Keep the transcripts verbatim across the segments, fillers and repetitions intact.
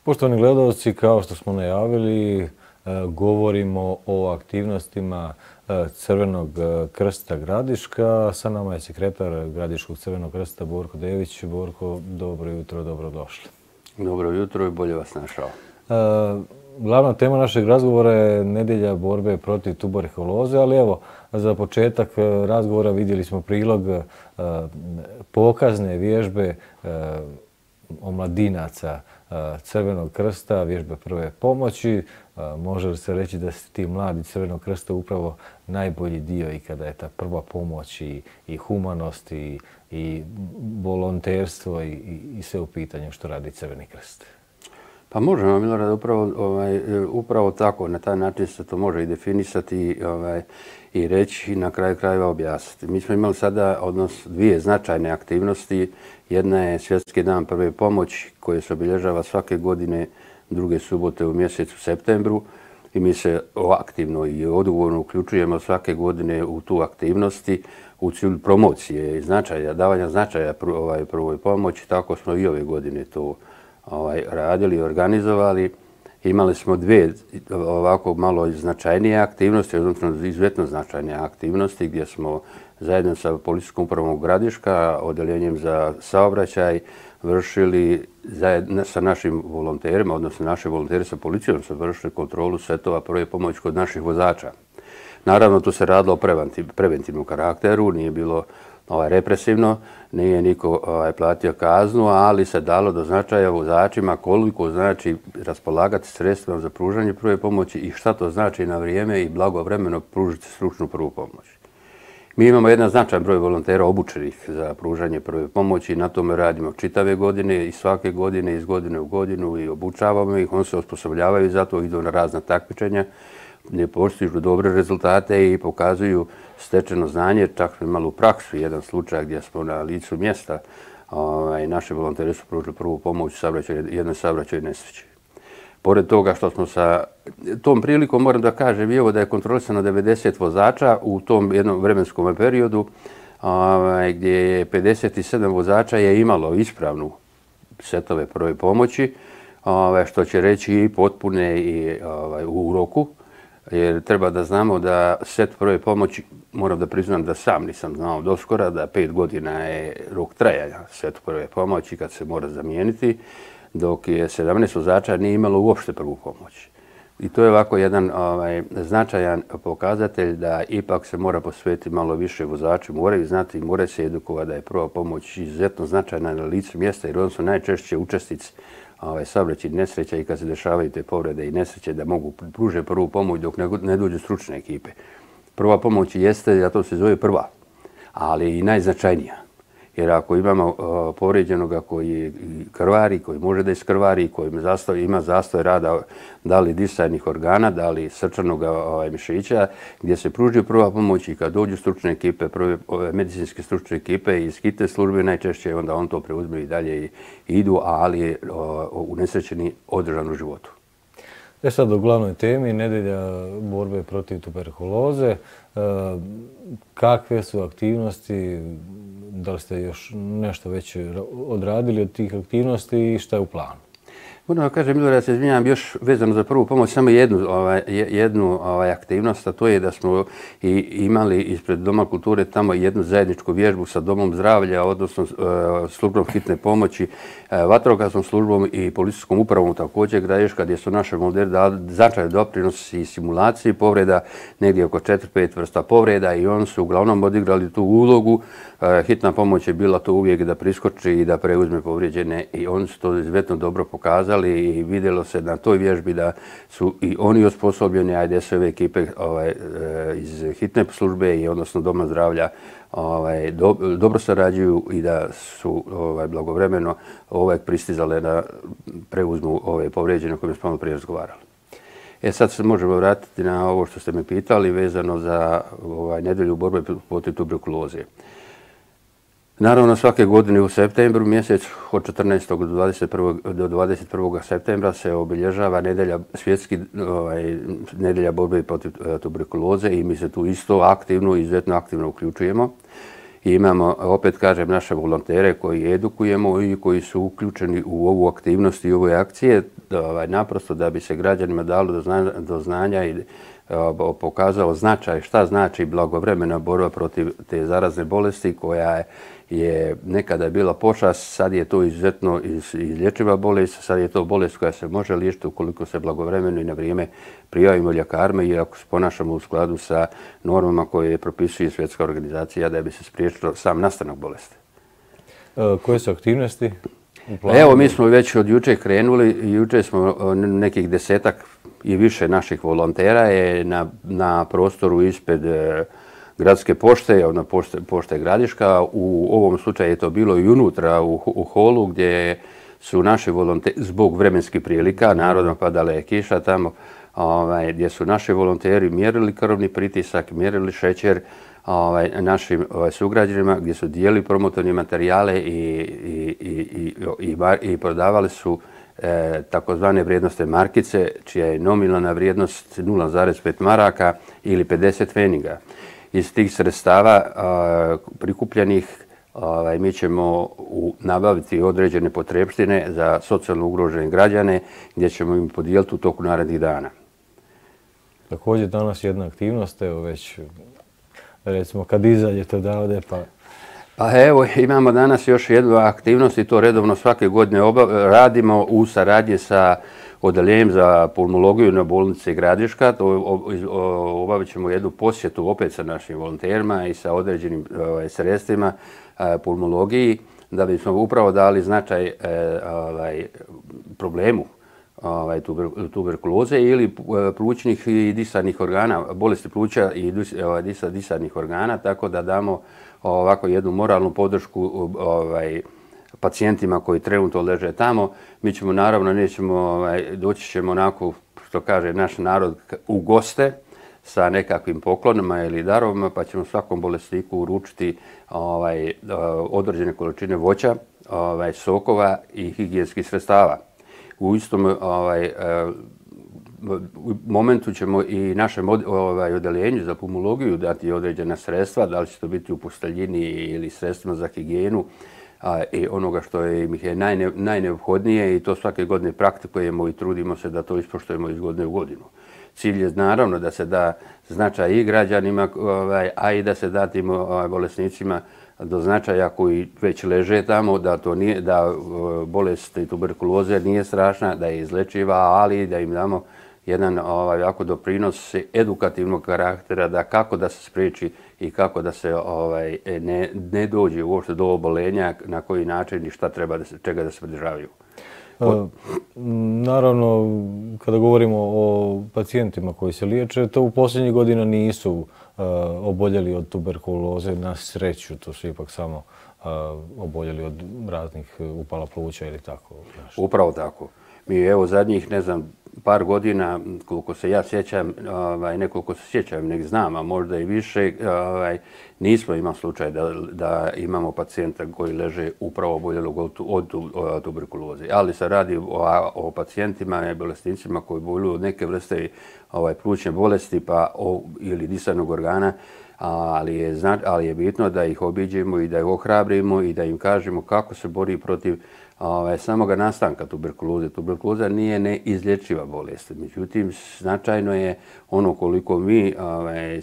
Poštovani gledalci, kao što smo najavili, govorimo o aktivnostima Crvenog krsta Gradiška. Sa nama je sekretar Gradiškog Crvenog krsta Borko Dević. Borko, dobro jutro, dobrodošli. Dobro jutro i bolje vas našao. Glavna tema našeg razgovora je nedjelja borbe protiv tuberkuloze, ali evo, za početak razgovora vidjeli smo prilog pokazne vježbe omladinaca Crvenog krsta, vježbe prve pomoći. Može li se reći da su ti mladi Crvenog krsta upravo najbolji dio i kada je ta prva pomoć i, i humanost i, i volonterstvo i, i sve u pitanju što radi Crveni krst? Pa možemo, Milorad, upravo, ovaj, upravo tako, na taj način se to može i definisati ovaj, i reći i na kraju krajeva objasniti. Mi smo imali sada odnos dvije značajne aktivnosti. Jedna je Svjetski dan prve pomoći koji se obilježava svake godine druge subote u mjesecu septembru i mi se aktivno i odgovorno uključujemo svake godine u tu aktivnosti u cilju promocije i značaja, davanja značaja ovaj, prvoj pomoći. Tako smo i ove godine to ovaj, radili i organizovali. Imali smo dvije ovako malo značajnije aktivnosti, odnosno izuzetno značajne aktivnosti gdje smo zajedno sa Policijskom upravom Gradiška, odeljenjem za saobraćaj, vršili zajedno sa našim volonterima, odnosno naši volonteri sa policijom su vršili kontrolu setova prve pomoći kod naših vozača. Naravno, tu se radilo o preventivnom karakteru, nije bilo ovaj, represivno, nije niko ovaj, platio kaznu, ali se dalo do značaja vozačima koliko znači raspolagati sredstvima za pružanje prve pomoći i šta to znači na vrijeme i blagovremeno pružiti stručnu prvu pomoć. Mi imamo jedan značajan broj volontera obučenih za pružanje prve pomoći i na tome radimo čitave godine i svake godine, iz godine u godinu i obučavamo ih, oni se osposobljavaju za to, idu na razna takmičenja, gdje postižu dobre rezultate i pokazuju stečeno znanje. Čak smo imali u praksu jedan slučaj gdje smo na licu mjesta ovaj, naši volonteri su pružili prvu pomoć u jednoj saobraćajnoj nesreći. Pored toga što smo sa tom prilikom, moram da kažem i evo da je kontrolisano devedeset vozača u tom jednom vremenskom periodu ovaj, gdje je pedeset sedam vozača je imalo ispravnu setove prve pomoći, ovaj, što će reći i potpune i ovaj, u roku. Jer treba da znamo da set prve pomoći, moram da priznam da sam nisam znao doskora, da pet godina je rok trajanja set prve pomoći kad se mora zamijeniti, dok je sedamnaest vozača nije imalo uopšte prvu pomoć. I to je ovako jedan ovaj, značajan pokazatelj da ipak se mora posvetiti malo više vozači, moraju znati i moraju se edukovati da je prva pomoć izuzetno značajna na licu mjesta jer oni su najčešće učesnici ovaj, saobraćajnih nesreća i kad se dešavaju te povrede i nesreće da mogu pružiti prvu pomoć dok ne, ne dođu stručne ekipe. Prva pomoć jeste, zato se zove prva, ali i najznačajnija. Jer ako imamo uh, povrijeđenoga koji je krvari, koji može da iskrvari, koji zastoj, ima zastoj rada da li disajnih organa, da li srčanog ovaj, mišića, gdje se pruži prva pomoć i kad dođu stručne ekipe, prve, ove, medicinske stručne ekipe iz hitne službe, najčešće onda on to preuzme i dalje i, i idu, ali je uh, unesrećeni održan u životu. E sad o glavnoj temi, nedjelja borbe protiv tuberkuloze. Kakve su aktivnosti, da li ste još nešto već odradili od tih aktivnosti i šta je u planu? Moram da kažem, Milorad, ja se izvinjam još vezano za prvu pomoć, samo jednu, ovaj, jednu ovaj, aktivnost, a to je da smo i imali ispred Doma kulture tamo jednu zajedničku vježbu sa Domom zdravlja, odnosno uh, službom hitne pomoći, uh, vatrogasnom službom i policijskom upravom također Gradiška, gdje su naše volonteri dali značajan doprinos i simulaciji povreda, negdje oko četiri pet vrsta povreda i oni su uglavnom odigrali tu ulogu. Uh, hitna pomoć je bila to uvijek da priskoči i da preuzme povrijeđene i oni su to izuzetno dobro pokazali i vidjelo se na toj vježbi da su i oni osposobljeni, a i S O V ekipe ovaj, iz hitne službe i odnosno Doma zdravlja ovaj, do, dobro sarađuju i da su ovaj, blagovremeno ovaj, pristizale da preuzmu ove povrijeđene o kojima smo prije razgovarali. E sad se možemo vratiti na ovo što ste me pitali vezano za ovaj, nedjelju borbe protiv tuberkuloze. Naravno, svake godine u septembru mjesec od četrnaestog do dvadeset prvog do dvadeset prvog septembra se obilježava nedjelja, svjetski ovaj, nedjelja borbe protiv tuberkuloze i mi se tu isto aktivno, izuzetno aktivno uključujemo. I imamo, opet kažem, naše volontere koji edukujemo i koji su uključeni u ovu aktivnost i ove akcije. ovaj, naprosto da bi se građanima dalo do znanja, do znanja i pokazao značaj šta znači blagovremena borba protiv te zarazne bolesti koja je, je nekada bila pošast, sad je to izuzetno izlječiva bolest, sad je to bolest koja se može liječiti ukoliko se blagovremeno i na vrijeme prijavimo ljekarima i ako se ponašamo u skladu sa normama koje propisuje Svjetska organizacija da bi se spriječilo sam nastanak bolesti. E, koje su aktivnosti? Evo, mi smo već od juče krenuli, juče smo nekih desetak i više naših volontera je na, na prostoru ispred e, gradske pošte, na pošte, pošte Gradiška. U ovom slučaju je to bilo i unutra u, u holu gdje su naši volonteri, zbog vremenskih prilika, narodno padala je kiša tamo, ovaj, gdje su naši volonteri mjerili krvni pritisak, mjerili šećer ovaj, našim ovaj, sugrađanima, gdje su dijeli promotorne materijale i, i, i, i, i, i prodavali su E, takozvane vrijednostne markice, čija je nominalna vrijednost nula zarez pet maraka ili pedeset pfeniga. Iz tih sredstava a, prikupljenih a, mi ćemo u, nabaviti određene potrebštine za socijalno ugrožene građane gdje ćemo im podijeliti u toku narednih dana. Također danas jedna aktivnost, evo već recimo kad izađete odavde pa... Pa evo, imamo danas još jednu aktivnost i to redovno svake godine obav, radimo u saradnji sa odeljenjem za pulmologiju na bolnici Gradiška. To obavit ćemo jednu posjetu opet sa našim volonterima i sa određenim ovaj, sredstvima eh, pulmologiji da bismo upravo dali značaj eh, ovaj, problemu ovaj, tuber, tuberkuloze ili plućnih i disarnih organa, bolesti pluća i ovaj, disarnih organa, tako da damo ovako jednu moralnu podršku ovaj, pacijentima koji trenutno leže tamo. Mi ćemo naravno, nećemo, ovaj, doći ćemo onako, što kaže naš narod, u goste sa nekakvim poklonima ili darovima, pa ćemo svakom bolesniku uručiti ovaj, određene količine voća, ovaj, sokova i higijenskih sredstava. U istom ovaj, u momentu ćemo i našem ovaj, odeljenju za pulmologiju dati određena sredstva, da li će to biti u posteljini ili sredstvima za higijenu a, i onoga što je, im je najne, najneophodnije i to svake godine praktikujemo i trudimo se da to ispoštujemo iz godine u godinu. Cilj je naravno da se da značaj i građanima, ovaj, a i da se da tim ovaj, bolesnicima do značaja koji već leže tamo, da to nije, da bolest i tuberkuloze nije strašna, da je izlečiva, ali da im damo jedan ovaj, jako doprinos edukativnog karaktera da kako da se spriječi i kako da se ovaj, ne, ne dođe uopšte do obolenja, na koji način i šta treba da se, čega da se pridržavaju. Od... Naravno, kada govorimo o pacijentima koji se liječe, to u posljednjih godina nisu uh, oboljeli od tuberkuloze, na sreću, to su ipak samo uh, oboljeli od raznih upala pluća ili tako. Nešto. Upravo tako. Mi evo zadnjih, ne znam, par godina, koliko se ja sjećam, ovaj, nekoliko se sjećam, nek znam, a možda i više, ovaj, nismo imali slučaj da, da imamo pacijenta koji leže upravo oboljelog od, od, od tuberkuloze. Ali se radi o, o pacijentima i bolesnicima koji boluju od neke vrste ovaj, plućne bolesti pa, o, ili disajnog organa, ali je, ali je bitno da ih obiđemo i da ih ohrabrimo i da im kažemo kako se bori protiv Ovaj, samoga nastanka tuberkuloze. Tuberkuloza nije neizlječiva bolest. Međutim, značajno je ono koliko mi ovaj,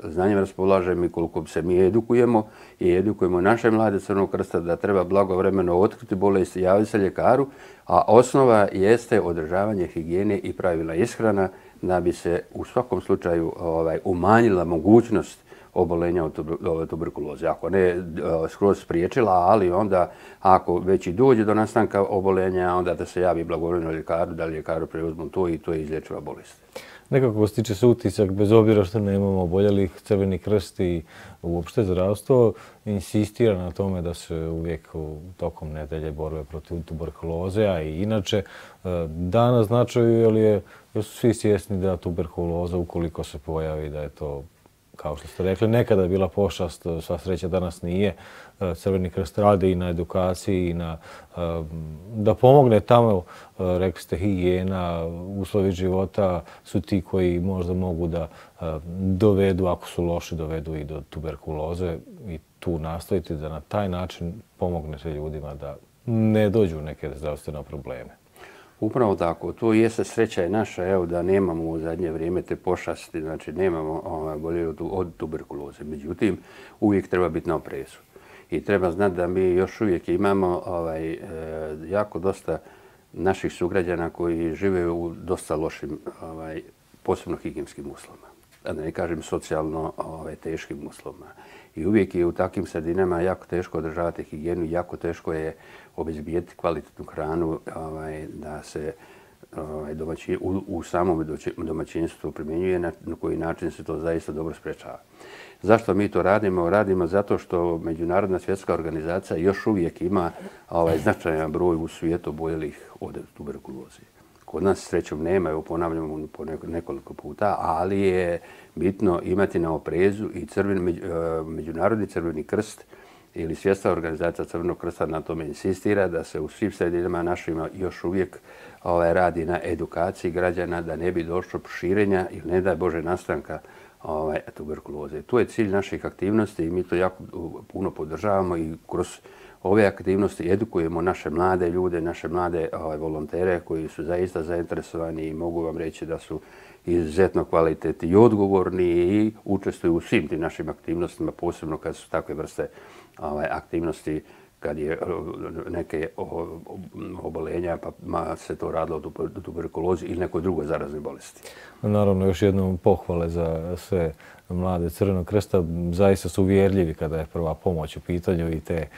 znanjem raspolažemo i koliko se mi edukujemo i edukujemo naše mlade Crvenog krsta da treba blagovremeno otkriti bolest i javiti se ljekaru, a osnova jeste održavanje higijene i pravila ishrana da bi se u svakom slučaju ovaj, umanjila mogućnost obolenja od tuberkuloze. Ako ne skroz spriječila, ali onda ako već i dođe do nastanka obolenja, onda da se javi blagovremeno ljekaru, da ljekaru preuzmu to i to je izlječiva bolest. Nekako stiče se utisak, bez obzira što nemamo oboljelih, Crveni krst i uopšte zdravstvo insistira na tome da se uvijek tokom nedelje borbe protiv tuberkuloze, a i inače da naznačuju, jer, je, jer su svi svjesni da tuberkuloza, ukoliko se pojavi, da je to, kao što ste rekli, nekada je bila pošast, sva sreća danas nije. Crveni krst radi i na edukaciji i na, da pomogne tamo, rekli ste, higijena, uslovi života su ti koji možda mogu da dovedu, ako su loši, dovedu i do tuberkuloze i tu nastojite da na taj način pomognete ljudima da ne dođu neke zdravstvene probleme. Upravo tako. To jeste sreća je naša, evo, da nemamo u zadnje vrijeme te pošasti, znači nemamo ovaj, oboljeli od tuberkuloze. Međutim, uvijek treba biti na oprezu. I treba znati da mi još uvijek imamo ovaj, e, jako dosta naših sugrađana koji žive u dosta lošim, ovaj, posebno higijenskim uslovima. Da ne kažem socijalno ovaj, teškim uslovima. I uvijek je u takvim sredinama jako teško održavati higijenu, jako teško je obezbijeti kvalitetnu hranu, ovaj, da se ovaj, domaći, u, u samom domaćinstvu primjenjuje, na, na koji način se to zaista dobro sprečava. Zašto mi to radimo? Radimo zato što Međunarodna svjetska organizacija još uvijek ima ovaj, značajan broj u svijetu oboljelih od tuberkuloze. Kod nas srećom nema, evo ponavljamo po nekoliko puta, ali je bitno imati na oprezu i crveni, Međunarodni crveni krst ili Svjetska organizacija Crvenog krsta na tome insistira da se u svim sredinama našima još uvijek ovaj, radi na edukaciji građana da ne bi došlo širenja ili ne daj Bože nastanka ovaj, tuberkuloze. To je cilj naših aktivnosti i mi to jako puno podržavamo i kroz ove aktivnosti edukujemo naše mlade ljude, naše mlade ovaj, volontere koji su zaista zainteresovani i mogu vam reći da su izuzetno kvalitetni i odgovorni i učestvuju u svim tim našim aktivnostima, posebno kad su takve vrste ovaj, aktivnosti, kad je neke obolenja, pa se to radilo o tuberkulozi ili nekoj drugoj zaraznoj bolesti. Naravno, još jednom pohvale za sve mlade Crvenog krsta. Zaista su uvjerljivi kada je prva pomoć u pitanju i te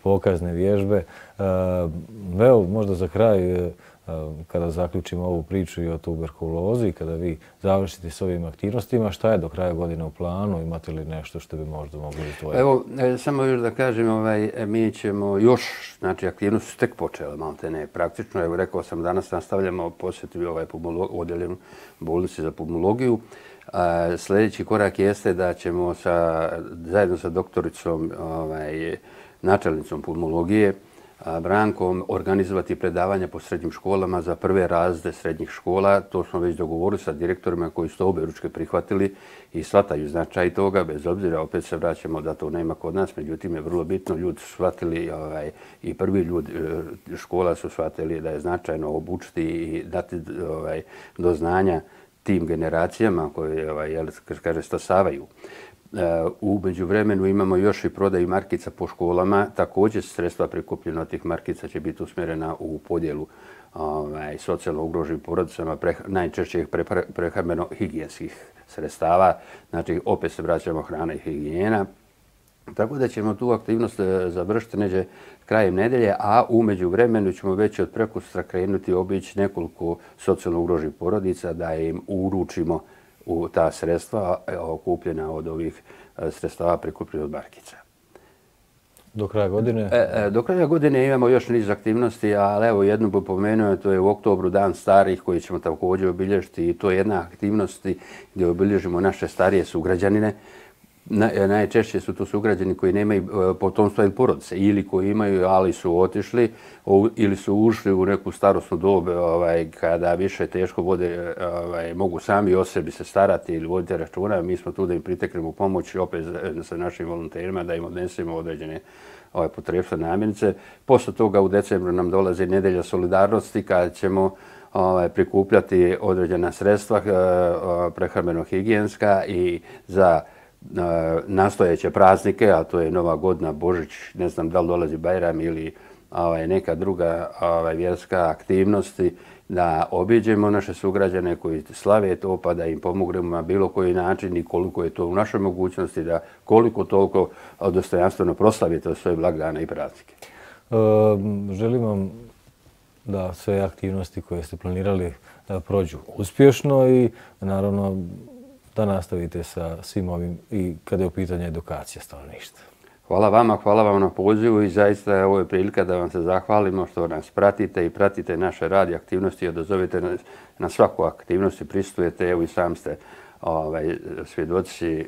pokazne vježbe. Evo, možda za kraj, kada zaključimo ovu priču i o tuberkulozi, kada vi završite s ovim aktivnostima, šta je do kraja godine u planu? Imate li nešto što bi možda mogli izdvojiti? Evo, samo još da kažem, ovaj, mi ćemo još, znači aktivnosti su tek počele, malte ne, praktično. Evo, rekao sam, danas nastavljamo posjeti ovaj odjeljenju bolnici za pulmologiju. A, sljedeći korak jeste da ćemo sa, zajedno sa doktoricom, ovaj, načelnicom pulmologije, Brankom, organizovati predavanja po srednjim školama za prve razrede srednjih škola. To smo već dogovorili sa direktorima koji su to objeručke prihvatili i shvataju značaj toga, bez obzira, opet se vraćamo da to nema kod nas, međutim je vrlo bitno, ljudi su shvatili ovaj, i prvi ljudi škola su shvatili da je značajno obučiti i dati ovaj, do znanja tim generacijama koje ovaj, jel, kaže, stasavaju. U međuvremenu imamo još i prodaju markica po školama. Također sredstva prikupljena od tih markica će biti usmjerena u podjelu ovaj, socijalno ugroženim porodicama, pre, najčešće prehrambeno-higijenskih sredstava. Znači, opet se vraćamo hrana i higijena. Tako da ćemo tu aktivnost završiti neđe krajem nedelje, a u međuvremenu ćemo već od prekustra krenuti obići nekoliko socijalno ugroženih porodica da im uručimo u ta sredstva okupljena od ovih sredstava prikupljena od markica. Do kraja godine? E, do kraja godine imamo još niz aktivnosti, ali evo jednu bi pomenuo, to je u oktobru Dan starih koji ćemo također obilježiti i to je jedna aktivnost gdje obilježimo naše starije sugrađanine. Na, najčešće su to sugrađani koji nemaju potomstva ili porodice ili koji imaju, ali su otišli o, ili su ušli u neku starosnu dobu ovaj, kada više teško vode, ovaj, mogu sami o sebi se starati ili voditi računa. Mi smo tu da im priteknemo pomoć opet sa našim volonterima da im odnesemo određene ovaj, potrebne namirnice. Posle toga u decembru nam dolazi Nedelja solidarnosti kada ćemo ovaj, prikupljati određena sredstva prehrambeno-higijenska i za nastojeće praznike, a to je Nova godina, Božić, ne znam da li dolazi Bajram ili ovaj, neka druga ovaj, vjerska aktivnosti, da obiđemo naše sugrađane koji slave to, pa da im pomognemo na bilo koji način i koliko je to u našoj mogućnosti, da koliko toliko dostojanstveno proslavite svoje blagdane i praznike. E, želim vam da sve aktivnosti koje ste planirali da prođu uspješno i naravno da nastavite sa svim ovim i kada je u pitanju edukacija stanovništva. Hvala vama, hvala vam na pozivu i zaista ovo je prilika da vam se zahvalimo što nas pratite i pratite naše rad i aktivnosti i odazovete na, na svaku aktivnost i pristujete. Evo i sam ste ovaj, svjedoci i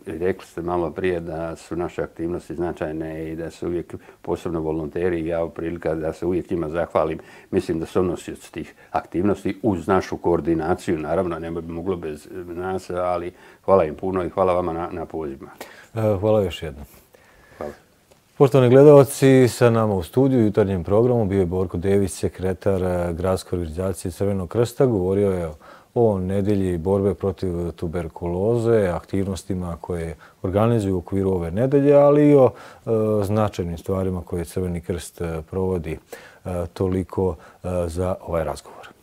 rekli ste malo prije da su naše aktivnosti značajne i da su uvijek posebno volonteri i ja u prilika da se uvijek njima zahvalim. Mislim da su nosioci tih aktivnosti uz našu koordinaciju, naravno ne bi moglo bez nas, ali hvala im puno i hvala vama na, na pozivima. Hvala još jednom. Hvala. Poštovani gledalci, sa nama u studiju u jutarnjem programu bio je Borko Dević, sekretar Gradske organizacije Crvenog krsta. Govorio je o nedelji borbe protiv tuberkuloze, aktivnostima koje organizuju u okviru ove nedelje, ali i o e, značajnim stvarima koje Crveni krst provodi. E, toliko e, za ovaj razgovor.